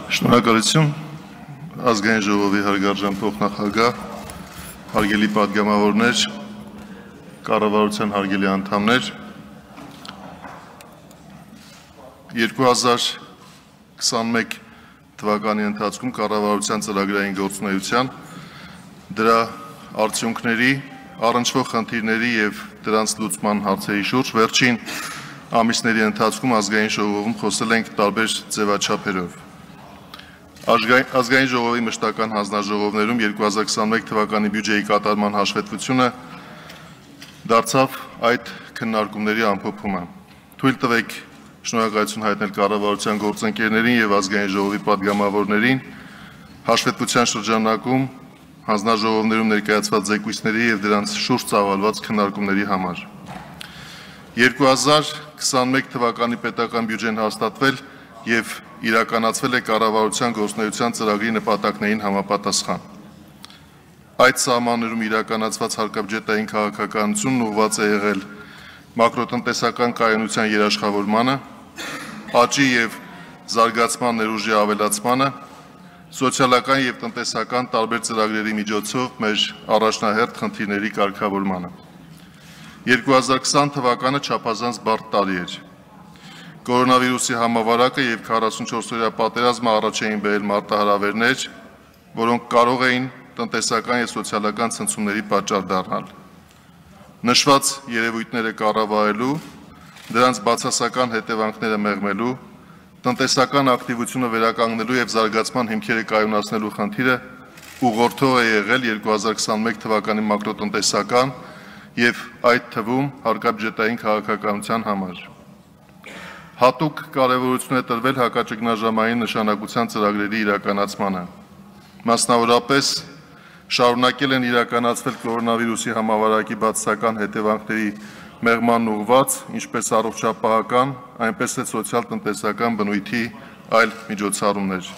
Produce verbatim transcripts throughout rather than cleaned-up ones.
Շնորհակալություն ազգային ժողովի հարգարժան փոխնախագահ, հարգելի պատգամավորներ, կառավարության հարգելի անդամներ, երկու հազար քսանմեկ թվականի ընթացքում կառավարության ծրագրային գործունեության, դրա արդյունքների, առնչվող խնդիրների եւ դրանց լուծման հարցերի շուրջ վերջին ամիսների ընթացքում ազգային ժողովում խոսել ենք տարբեր ձևաչափերով։ Ազգային ժողովի մշտական հանձնաժողովներում երկու հազար քսանմեկ թվականի բյուջեի կատարման հաշվետվությունը դարձավ այդ քննարկումների ամփոփումը։ Թույլ տվեք շնորհակալություն հայտնել կառավարության գործընկերներին եւ ազգային ժողովի պատգամավորներին հաշվետվության շրջանակում հանձնաժողովներում ներկայացված զեկույցների եւ դրանց շուրջ ծավալված քննարկումների համար։ երկու հազար քսանմեկ թվականի պետական բյուջեն հաստատվել եւ իրականացվել է կառավարության գործունեության ծրագրի նպատակներին համապատասխան։ Այդ սահմաններում իրականացված հարկաբյուջետային քաղաքականությունն ուղղված է եղել մակրոտնտեսական կայունության երաշխավորմանը, աճի եւ զարգացման ներուժի ավելացմանը, սոցիալական եւ տնտեսական տարբեր ծրագրերի միջոցով մեր առաջնահերթ խնդիրների կարգավորմանը։ երկու հազար քսան թվականը չափազանց բարդ տարի էր։ Կորոնավիրուսի համավարակը եւ քառասունչորսօրյա պատերազմը առաջ էին բերել մարտահրավերներ, որոնք կարող էին տնտեսական եւ սոցիալական ցնցումների պատճառ դառնալ։ Նշված երևույթները կառավարելու, դրանց բացասական հետևանքները մեղմելու, տնտեսական ակտիվությունը վերականգնելու եւ զարգացման հիմքերը կայունացնելու խնդիրը ուղղորդող է եղել երկու հազար քսանմեկ թվականի մակրոտնտեսական եւ այդ թվում հարկաբյուջետային քաղաքականության համար։ Հատուկ կարևորություն է տրվել հակաճգնաժամային նշանակության ծրագրերի իրականացմանը։ Մասնավորապես շարունակել են իրականացվել կորոնավիրուսի համավարակի բացասական հետևանքների մեղման ուղղված, ինչպես առողջապահական, այնպես էլ սոցիալ-տնտեսական բնույթի այլ միջոցառումներ։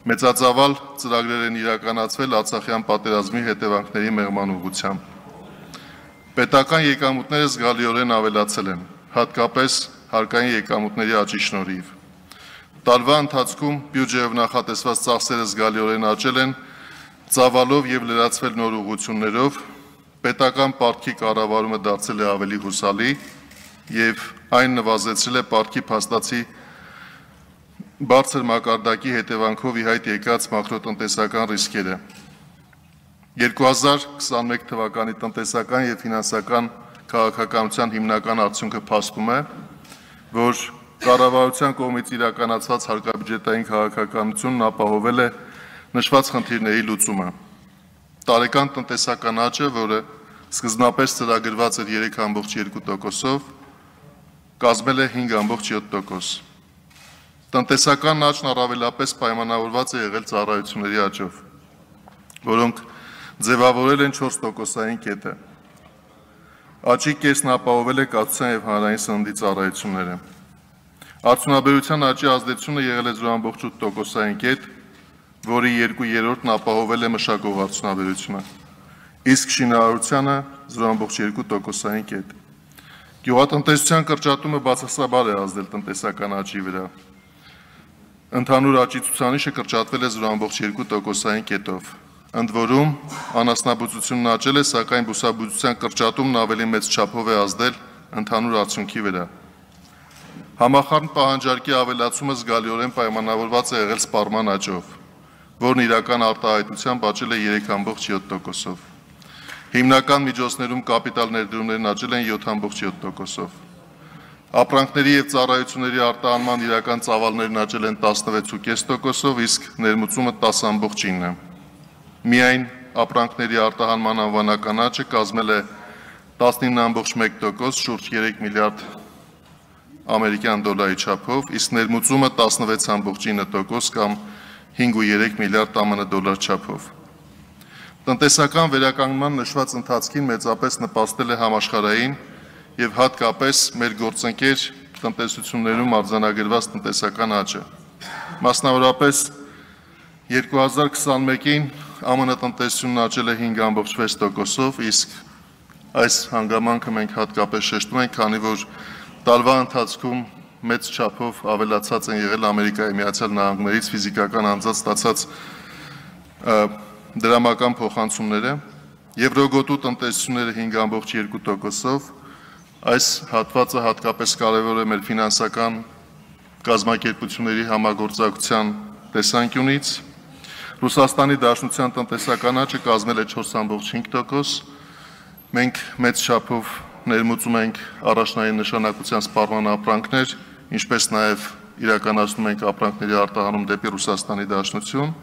Մեծածավալ ծրագրեր են իրականացվել Արցախյան պատերազմի հետևանքների մեղման ուղղությամբ։ Պետական եկամուտները զգալիորեն ավելացել են, հատկապես հարկային եկամուտների աճի շնորհիվ։ Տարվա ընթացքում բյուջեով նախատեսված ծախսերը զգալիորեն աճել են, ծավալով եւ լրացվել նոր ուղղություններով, պետական պարտքի կառավարումը դարձել է ավելի հուսալի եւ այն նվազեցրել է պարտքի փաստացի բարձր մակարդակի հետևանքով ի հայտ եկած մակրոտնտեսական ռիսկերը։ երկու հազար քսանմեկ թվականի տնտեսական եւ ֆինանսական քաղաքականության հիմնական արդյունքը փաստում է, որ կառավարության կողմից իրականացված հարկաբյուջետային քաղաքականությունն ապահովել է նշված խնդիրների լուծումը։ Տարեկան տնտեսական աճը, որը սկզբնապես ծրագրված էր երեք կόμք երկու տոկոսով, կազմել է հինգ կόμք յոթ տոկոս։ Տնտեսական աճն առավելապես պայմանավորված է եղել ծառայությունների աճով, որոնք ձևավորել են չորս տոկոսային կետը։ Աճի կեսն ապահովել է կացության եւ հանրային սննդի ծառայությունները։ Արդյունաբերության աճի ազդեցությունը եղել է զրո կόμք ութ տոկոսային կետ, որի երկու երրորդն ապահովել է մշակող արդյունաբերությունը, իսկ շինարարությանը զրո կόμք երկու տոկոսային կետ։ Գյուղատնտեսության կրճատումը բացասաբար է ազդել տնտեսական աճի վրա։ Ընդհանուր աճի ցուցանիշը կրճատվել է զրո կόμք երկու տոկոսային կետով։ Ընդ որում, անասնաբուծությունն աճել է, սակայն բուսաբուծության կրճատումն ավելի մեծ չափով է ազդել ընդհանուր արդյունքի վրա։ Համախառն պահանջարկի ավելացումը զգալիորեն պայմանավորված է եղել սպառման աճով, որն իրական արտահայտությամբ աճել է երեք կόμք յոթ տոկոսով։ Հիմնական միջոցներում կապիտալ ներդրումներն աճել են յոթ կόμք յոթ տոկոսով։ Ապրանքների եւ ծառայությունների արտահանման իրական ծավալներն աճել են տասնվեց կόμք պենս տոկոսով, իսկ ներմուծումը տասը կόμք ինը։ Միայն ապրանքների արտահանման անվանական աճը կազմել է տասնինը կόμք մեկ տոկոս, շուրջ երեք միլիարդ ամերիկյան դոլարի չափով, իսկ ներմուծումը տասնվեց կόμք ինը տոկոս կամ հինգ կόμք երեք միլիարդ ԱՄՆ դոլար չափով։ Տնտեսական վերականգնման նշված ընթացքին մեծապես նպաստել է համաշխարհային եւ հատկապես մեր գործընկեր տնտեսություններում արձանագրված տնտեսական աճը։ Մասնավորապես երկու հազար քսանմեկին ԱՄՆ տնտեսությունն աճել է հինգ կόμք վեց տոկոսով, իսկ այս հանգամանքը մենք հատկապես շեշտում ենք, քանի որ տարվա ընթացքում մեծ չափով ավելացած են եղել Ամերիկայի Միացյալ Նահանգներից ֆիզիկական անձանց ստացած դրամական փոխանցումները, եվրոգոտու տնտեսությունները հինգ ամբողջ երկու տոկոսով, այս հատվածը հատկապես կարևոր է մեր ֆինանսական կազմակերպությունների համագործակցության տեսանկյունից, Ռուսաստանի Դաշնության տնտեսական աճը կազմել է չորս ամբողջ հինգ տոկոս, մենք մեծ չափով ներմուծում ենք առաջնային նշանակության սպառման ապրանքներ, ինչպես նաև իրականացնում ենք ապրանքների արտահանում դեպի Ռուսաստանի Դաշնություն,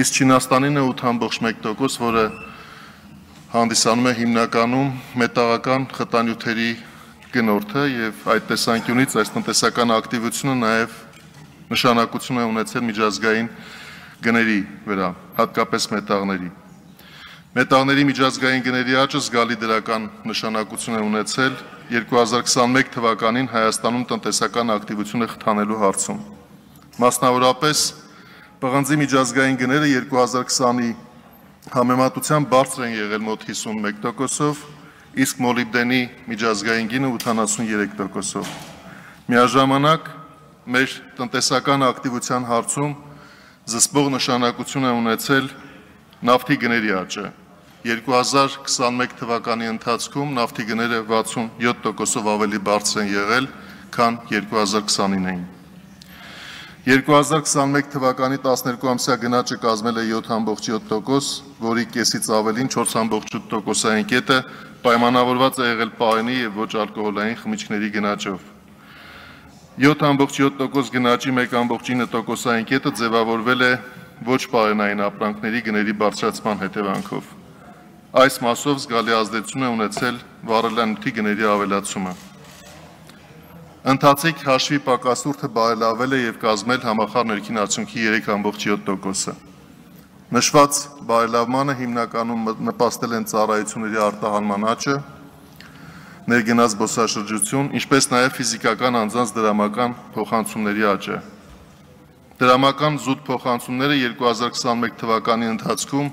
իսկ Չինաստանին է ութ ամբողջ մեկ տոկոս, որը հանդիսանում է հիմնականում մետաղական խտանյութերի գնորդը եւ այդ տեսանկյունից այս տնտեսական ակտիվությունը նաև նշանակություն է ունեցել միջազգային գների վրա, հատկապես մետաղների։ Մետաղների միջազգային գների աճը զգալի դրական նշանակություն է ունեցել երկու հազար քսանմեկ թվականին Հայաստանում տնտեսական ակտիվությունը խթանելու հարցում։ Մասնավորապես, պղնձի միջազգային գները երկու հազար քսանի համեմատությամբ բարձր են եղել մոտ հիսունմեկ տոկոսով, իսկ մոլիբդենի միջազգային գինը ութանասուներեք տոկոսով։ Միաժամանակ մեր տնտեսական ակտիվության հարցում զսպող նշանակություն է ունեցել նավթի գների աճը։ երկու հազար քսանմեկ թվականի ընթացքում նավթի գները վաթսունյոթ տոկոսով ավելի բարձր են եղել, քան երկու հազար քսանինին։ երկու հազար քսանմեկ թվականի տասներկու ամսյա գնաճը կազմել է յոթ ամբողջ յոթ տոկոս, որի կեսից ավելին չորս ամբողջ ութ տոկոսային կետը պայմանավորված է եղել պարենի եւ ոչ ալկոհոլային խմիչքների գնաճով։ յոթ ամբողջ յոթ տոկոս գնաճի մեկ ամբողջ ինը տոկոսային կետը ձևավորվել է ոչ պարենային ապրանքների գների բարձրացման հետևանքով։ Այս մասով զգալի ազդեցություն է ունեցել վառելանյութի գների ավելացումը։ Ընթացիկ հաշվի պակասուրդը բարելավել է եւ կազմել համախառն ներքին արդյունքի երեք ամբողջ յոթ տոկոսը։ Նշված բարելավմանը հիմնականում նպաստել են ծառայությունների արտահանման աճը, ներգնաց զբոսաշրջություն, ինչպես նաև ֆիզիկական անձանց դրամական փոխանցումների աճը։ Դրամական զուտ փոխանցումները երկու հազար քսանմեկ թվականի ընթացքում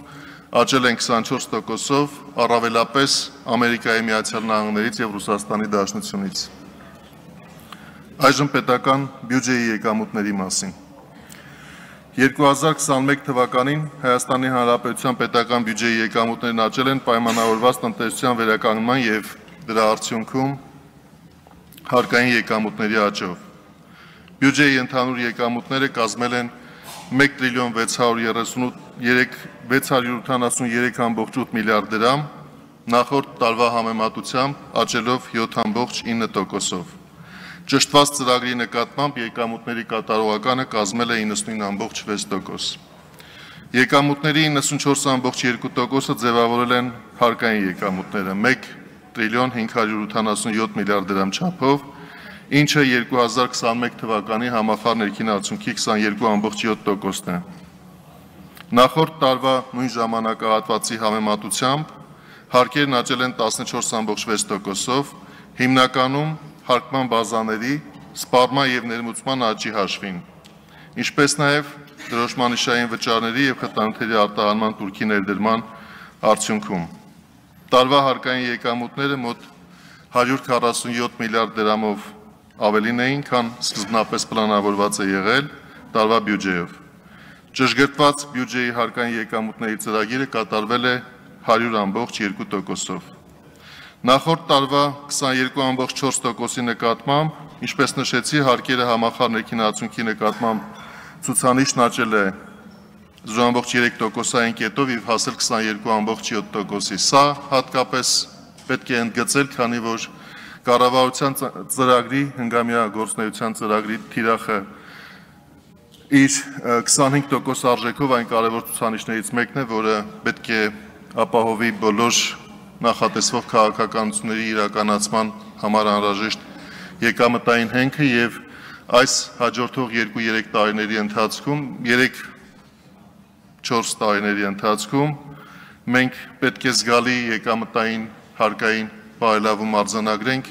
աճել են քսանչորս տոկոսով, առավելապես Ամերիկայի Միացյալ Նահանգներից եւ Ռուսաստանի Դաշնությունից։ Այժմ պետական բյուջեի եկամուտների մասին։ երկու հազար քսանմեկ թվականին Հայաստանի Հանրապետության պետական բյուջեի եկամուտներն աճել են պայմանավորված տնտեսության վերականգնման եւ դրա արդյունքում հարկային եկամուտների աճով։ Բյուջեի ընդհանուր եկամուտները կազմել են մեկ տրիլիոն վեց հարյուր ութանասուներեք ամբողջ ութ միլիարդ դրամ, նախորդ տարվա համեմատությամբ աճելով յոթ ամբողջ ինը տոկոսով։ Ճշտված ծրագրի նկատմամբ եկամուտների կատարողականը կազմել է իննսունինը ամբողջ վեց տոկոս։ Եկամուտների իննսունչորս ամբողջ երկու տոկոսը ձևավորել են հարկային եկամուտները մեկ տրիլիոն հինգ հարյուր ութանասունյոթ միլիարդ դրամ չափով, ինչը երկու հազար քսանմեկ թվականի համախառն ներքին արդյունքի քսաներկու ամբողջ յոթ տոկոսն է։ Նախորդ տարվա նույն ժամանակահատվածի համեմատությամբ հարկերն աճել են տասնչորս ամբողջ վեց տոկոսով, հիմնականում հարկման բազաների, սպառման եւ ներմուծման աճի հաշվին, ինչպես նաեւ դրոշմանիշային վճարների եւ խտանյութերի արտահանման տուրքի ներդրման արդյունքում։ Տարվա հարկային եկամուտները մոտ հարյուր քառասունյոթ միլիարդ դրամով ավելին էին, քան սկզբնապես պլանավորված է եղել տարվա բյուջեով։ Ճշգրտված բյուջեի հարկային եկամուտների ծրագիրը կատարվել է հարյուր ամբողջ երկու տոկոսով։ Նախորդ տարվա քսաներկու ամբողջ չորս տոկոսի նկատմամբ, ինչպես նշեցի, հարկերը համախառն ներքին արդյունքի նկատմամբ ցուցանիշն աճել է զրո ամբողջ երեք տոկոսային կետով եւ հասել քսաներկու ամբողջ յոթ տոկոսի։ Սա հատկապես պետք է ընդգծել, քանի որ կառավարության ծրագրի, հնգամյա գործունեության ծրագրի թիրախը իր քսանհինգ տոկոս արժեքով այն կարևոր ցուցանիշներից մեկն է, որը պետք է ապահովի բոլոր նախատեսվող քաղաքականությունների իրականացման համար անհրաժեշտ եկամտային հենքը եւ այս հաջորդող երկու-երեք տարիների ընթացքում, երեք-չորս տարիների ընթացքում մենք պետք է զգալի եկամտային հարկային բարելավում արձանագրենք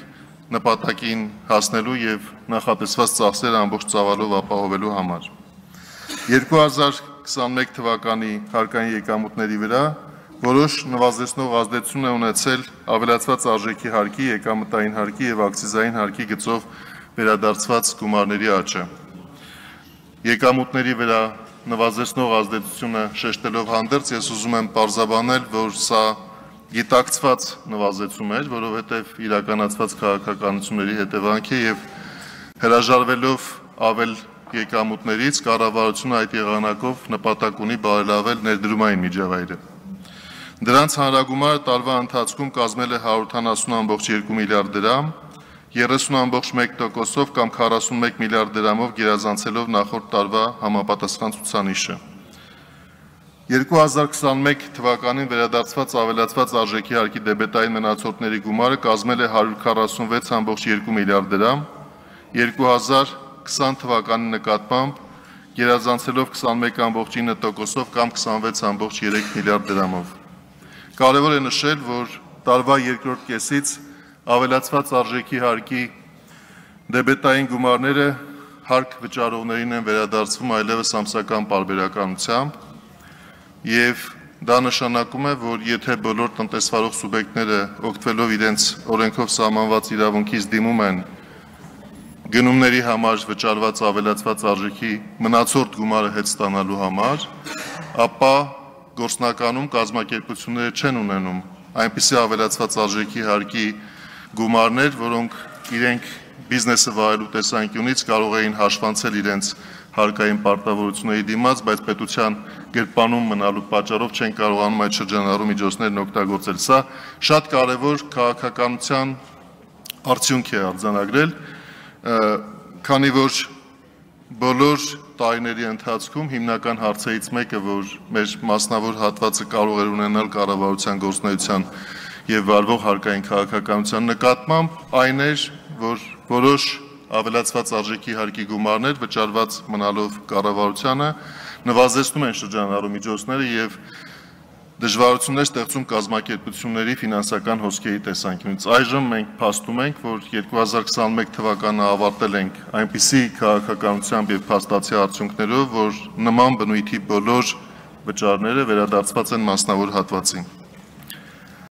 նպատակին հասնելու եւ նախատեսված ծախսերը ամբողջ ծավալով ապահովելու համար։ երկու հազար քսանմեկ թվականի հարկային եկամուտների վրա որոշ նվազեցնող ազդեցություն է ունեցել ավելացված արժեքի հարկի, եկամտային հարկի եւ ակցիզային հարկի գծով վերադարձված գումարների աճը։ Եկամուտների վրա նվազեցնող ազդեցությունը շեշտելով հանդերձ, ես ուզում եմ պարզաբանել, որ սա գիտակցված նվազեցում էր, որովհետև իրականացված քաղաքականությունների հետևանք է եւ հրաժարվելով ավել եկամուտներից կառավարությունը այդ եղանակով նպատակ ունի բարելավել ներդրումային միջավայրը։ Դրանց հանրագումարը տարվա ընթացքում կազմել է հարյուր ութանասուն կόμμα երկու միլիարդ դրամ, երեսուն կόμμα մեկ տոկոսով կամ քառասունմեկ միլիարդ դրամով գերազանցելով նախորդ տարվա համապատասխան ցուցանիշը։ երկու հազար քսանմեկ թվականին վերադարձված ավելացված արժեքի հարկի դեբետային մնացորդների գումարը կազմել է հարյուր քառասունվեց կόμμα երկու միլիարդ դրամ, երկու հազար քսան թվականի նկատմամբ գերազանցելով քսանմեկ կόμma ինը տոկոսով կամ քսանվեց կόμma երեք միլիարդ դրամով։ Կարևոր է նշել, որ տարվա երկրորդ կեսից ավելացված արժեքի հարկի դեբետային գումարները հարկ վճարողներին են վերադարձվում այլևս ամսական պարբերականությամբ եւ դա նշանակում է, որ եթե բոլոր տնտեսվարող սուբյեկտները օգտվելով իրենց օրենքով սահմանված իրավունքից դիմում են գնումների համար վճարված ավելացված արժեքի մնացորդ գումարը հետ ստանալու համար, ապա գործնականում կազմակերպությունները չեն ունենում այնպիսի ավելացված արժեքի հարկի գումարներ, որոնք իրենք բիզնեսը վարելու տեսանկյունից կարող էին հաշվանցել իրենց հարկային պարտավորությունների դիմաց, բայց պետության գրպանում մնալու պատճառով չեն կարողանում այդ շրջանառու միջոցներն օգտագործել։ Սա շատ կարևոր քաղաքականության արդյունք է արձանագրել, քանի որ բոլոր տարիների ընթացքում հիմնական հարցերից մեկը, որ մեր մասնավոր հատվածը կարող էր ունենալ կառավարության գործունեության եւ վարվող հարկային քաղաքականության նկատմամբ, այն էր, որ որոշ ավելացված արժեքի հարկի գումարներ վճարված մնալով կառավարությանը նվազեցնում են շրջանառու միջոցները եւ դժվարություններ ստեղծում կազմակերպությունների ֆինանսական հոսքերի տեսանկյունից։ Այժմ մենք փաստում ենք, որ երկու հազար քսանմեկ թվականը ավարտել ենք այնպիսի քաղաքականությամբ եւ փաստացի արդյունքներով, որ նման բնույթի բոլոր վճարները վերադարձված են մասնավոր հատվածին։